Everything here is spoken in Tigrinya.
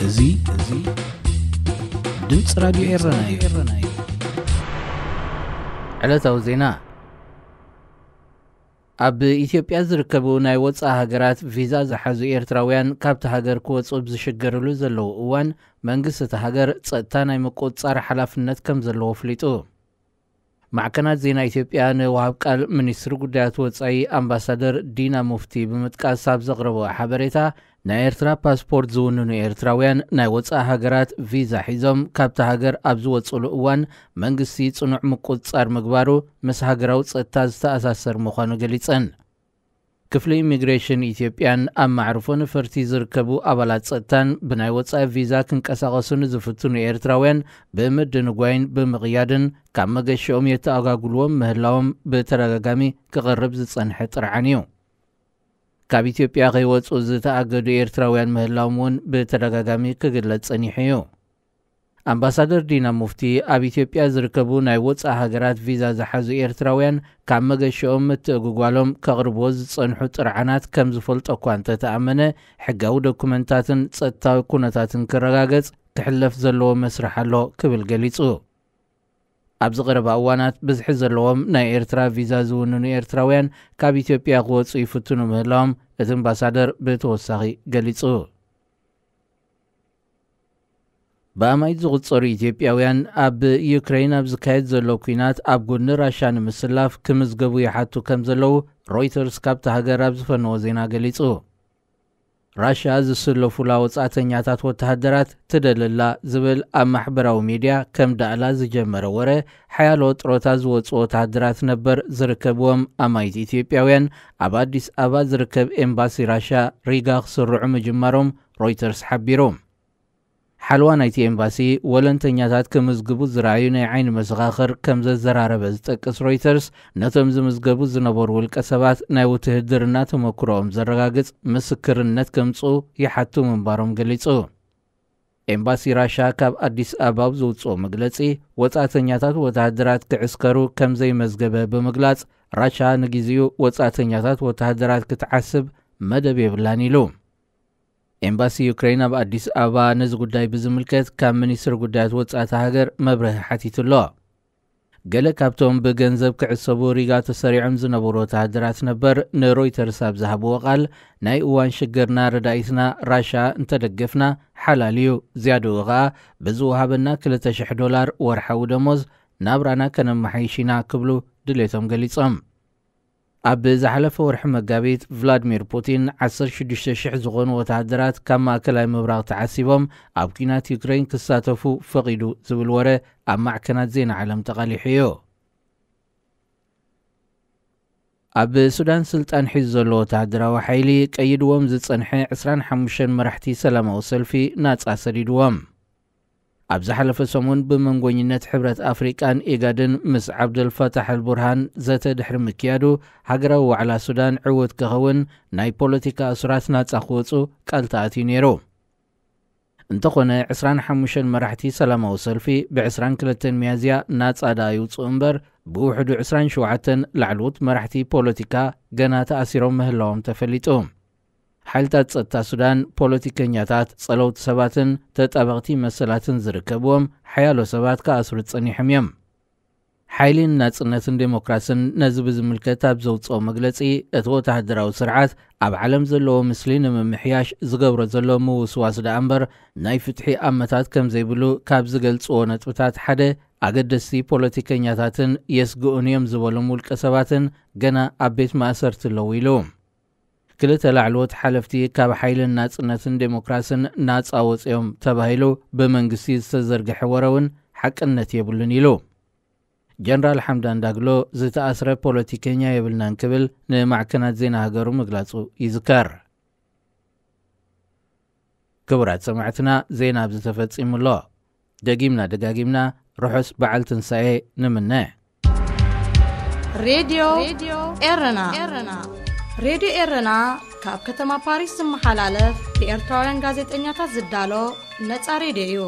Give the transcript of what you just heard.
እዚ እዚ ድምፂ ራዲዮ ኤረና እዩ። ዕለታዊ ዜና። ኣብ ኢትዮጵያ ዝርከቡ ናይ ወፃኢ ሃገራት ቪዛ ዝሓዙ ኤርትራውያን ካብቲ ሃገር ክወፁ ብዝሽገርሉ ዘለዉ እዋን፣ መንግስቲ እቲ ሃገር ጸጥታ ናይ ምቁጽጻር ሓላፍነት ከም ዘለዎ ኣፍሊጡ። ማዕከናት ዜና ኢትዮጵያ ንወሃብ ቃል ሚኒስትሪ ጉዳያት ወጻኢ ኣምባሳደር ዲና ሙፍቲ ብምጥቃስ ኣብ ዘቕረቦ ሓበሬታ፣ ናይ ኤርትራ ፓስፖርት ዝውንኑ ኤርትራውያን ናይ ወጻኢ ሃገራት ቪዛ ሒዞም ካብታ ሃገር ኣብ ዝወጽሉ እዋን፣ መንግስቲ ጽኑዕ ምቁጽጻር ምግባሩ ምስ ሃገራዊ ጸጥታ ዝተኣሳሰር ምዃኑ ገሊጸን። ክፍሊ ኢሚግሬሽን ኢትዮጵያን ኣብ ማዕርፎ ነፈርቲ ዝርከቡ ኣባላት ጸጥታን ብናይ ወጻኢ ቪዛ ክንቀሳቐሱ ንዝፍትኑ ኤርትራውያን ብምድንጓይን ብምቕያድን ካብ መገሽኦም የተኣጓጉልዎም ምህላዎም ብተደጋጋሚ ክቐርብ ዝጸንሐ ጥርዓን እዩ። ካብ ኢትዮጵያ ከይወጹ ዝተኣገዱ ኤርትራውያን ምህላዎም እውን ብተደጋጋሚ ክግለጽ ጸኒሑ እዩ። ኣምባሳደር ዲና ሙፍቲ ኣብ ኢትዮጵያ ዝርከቡ ናይ ወጻኢ ሃገራት ቪዛ ዝሓዙ ኤርትራውያን ካብ መገሽኦም ምትእጉጓሎም ከቕርብዎ ዝጸንሑ ጥርዓናት ከም ዝፈልጦ እኳ እንተተኣመነ፣ ሕጋዊ ዶኩመንታትን ጸጥታዊ ኩነታትን ክረጋገጽ ክሕለፍ ዘለዎ መስርሕ ኣሎ ክብል ገሊጹ። ኣብዚ ቀረባ እዋናት ብዝሒ ዘለዎም ናይ ኤርትራ ቪዛ ዝውንኑ ኤርትራውያን ካብ ኢትዮጵያ ክወጹ ይፍትኑ ምህላዎም እቲ ኣምባሳደር ብተወሳኺ ገሊጹ። ብኣማኢት ዝቑጸሩ ኢትዮጵያውያን ኣብ ዩክሬን ኣብ ዝካየድ ዘሎ ኲናት ኣብ ጎድኒ ራሻ ንምስላፍ ክምዝገቡ ይሓቱ ከም ዘለዉ ሮይተርስ ካብቲ ሃገር ኣብ ዝፈነዎ ዜና ገሊጹ። ራሻ ዝስለፉላ ወጻእተኛታት ወተሃደራት ትደልላ ዝብል ኣብ ማሕበራዊ ሚድያ ከም ዳእላ ዝጀመረ ወረ፣ ሓያሎ ጥሮታ ዝወጹ ወተሃደራት ነበር ዝርከብዎም ኣማኢት ኢትዮጵያውያን ኣብ ኣዲስ ኣበባ ዝርከብ ኤምባሲ ራሻ ሪጋ ክስርዑ ምጅማሮም ሮይተርስ ሓቢሩ። ሓለዋ ናይቲ ኤምባሲ፣ ወለንተኛታት ክምዝግቡ ዝረኣዩ ናይ ዓይኒ መሰኻኽር ከም ዘዘራረበ ዝጠቅስ ሮይተርስ፣ ነቶም ዝምዝገቡ ዝነበሩ ውልቀ ሰባት ናይ ውትህድርና ተመክሮኦም ዘረጋግጽ ምስክርነት ከምጽኡ ይሓቱ ምንባሮም ገሊጹ። ኤምባሲ ራሻ ካብ ኣዲስ ኣበባ ኣብ ዘውጽኦ መግለጺ፣ ወጻእተኛታት ወተሃደራት ክዕስከሩ ከም ዘይመዝገበ ብምግላጽ፣ ራሻ ንግዜኡ ወጻእተኛታት ወተሃደራት ክትዓስብ መደብ የብላን ኢሉ። ኤምባሲ ዩክሬን ኣብ ኣዲስ ኣበባ ነዚ ጉዳይ ብዝምልከት ካብ ሚኒስትሪ ጉዳያት ወጻኢ እታ ሃገር መብርሂ ሓቲቱ ኣሎ። ገለ ካብቶም ብገንዘብ ክዕሰቡ ሪጋ ተሰሪዖም ዝነበሩ ወተሃደራት ነበር ንሮይተርስ ኣብ ዝሃብዎ ቃል፣ ናይ እዋን ሽግርና ረዳኢትና ራሻ እንተደገፍና ሓላል እዩ፣ ዝያድኡ ኸኣ ብዝወሃበና ክልተ ሽሕ ዶላር ወርሓዊ ደሞዝ ናብራና ከነመሓይሽ ኢና ክብሉ ድሌቶም ገሊጾም። ኣብ ዝሓለፈ ወርሒ መጋቢት፣ ቭላድሚር ፑቲን ዓሰርተ ሽዱሽተ ሽሕ ዝኾኑ ወተሃደራት ካብ ማእከላይ ምብራቕ ተዓሲቦም ኣብ ኲናት ዩክሬን ክሳተፉ ፈቒዱ ዝብል ወረ ኣብ ማዕከናት ዜና ዓለም ተቓሊሑ እዩ። ኣብ ሱዳን ስልጣን ሒዙ ዘሎ ወተሃደራዊ ሓይሊ ቀይድዎም ዝጸንሐ ዕስራን ሓሙሽተን መራሕቲ ሰላማዊ ሰልፊ ናጻ ሰዲድዎም። ኣብ ዝሓለፈ ሰሙን ብመንጎኝነት ሕብረት ኣፍሪቃን ኢጋድን ምስ ዓብደልፋታሕ ኣልቡርሃን ዘተ ድሕሪ ምክያዱ፣ ሃገራዊ ዋዕላ ሱዳን ዕዉት ክኸውን፣ ናይ ፖለቲካ እሱራት ናጻ ክወጹ ቃል ተኣትዩ ነይሩ። እንተኾነ፣ ዕስራን ሓሙሽተን መራሕቲ ሰላማዊ ሰልፊ ብ ዕስራን ክልተን ሚያዝያ ናጻ ደኣ ይውጽኡ እምበር፣ ብውሕዱ ዕስራን ሸውዓተን ላዕለዎት መራሕቲ ፖለቲካ ገና ተኣሲሮም ምህላዎም ተፈሊጡ። ሓይልታት ጸጥታ ሱዳን፣ ፖለቲከኛታት፣ ጸለውቲ ሰባትን ተጣበቕቲ መሰላትን ዝርከብዎም ሓያሎ ሰባት ክኣስሩ ጸኒሖም እዮም። ሓይሊ ንናጽነትን ዴሞክራስን ነዚ ብዝምልከት ኣብ ዘውጽኦ መግለጺ፣ እቲ ወተሃደራዊ ስርዓት ኣብ ዓለም ዘለዎ ምስሊ ንምምሕያሽ ዝገብሮ ዘሎ ምውስዋስ ደኣ እምበር፣ ናይ ፍትሒ ኣመታት ከም ዘይብሉ ካብ ዝገልጽዎ ነጥብታት ሓደ፣ ኣገደስቲ ፖለቲከኛታትን የስግኡን እዮም ዝበሎም ውልቀ ሰባትን ገና ኣብ ቤት ማእሰርቲ ኣለዉ ኢሉ። ክልተ ላዕለዎት ሓለፍቲ ካብ ሓይልን ናጽነትን ዴሞክራስን ናጻ ወጺኦም ተባሂሉ ብመንግስቲ ዝተዘርግሐ ወረ እውን ሓቅነት የብሉን ኢሉ። ጀነራል ሓምዳን ዳግሎ ዝተኣስረ ፖለቲከኛ የብልናን ክብል ንማዕከናት ዜና ሃገሩ ምግላጹ ይዝከር። ክቡራት ሰማዕትና፣ ዜና ኣብዚ ተፈጺሙ ኣሎ። ደጊምና ደጋጊምና ርሑስ በዓል ትንሳኤ ንምነ። ሬድዮ ኤረና። ሬድዮ ኤረና ካብ ከተማ ፓሪስ ዝመሓላለፍ ብኤርትራውያን ጋዜጠኛታት ዝዳሎ ነጻ ሬድዮ እዩ።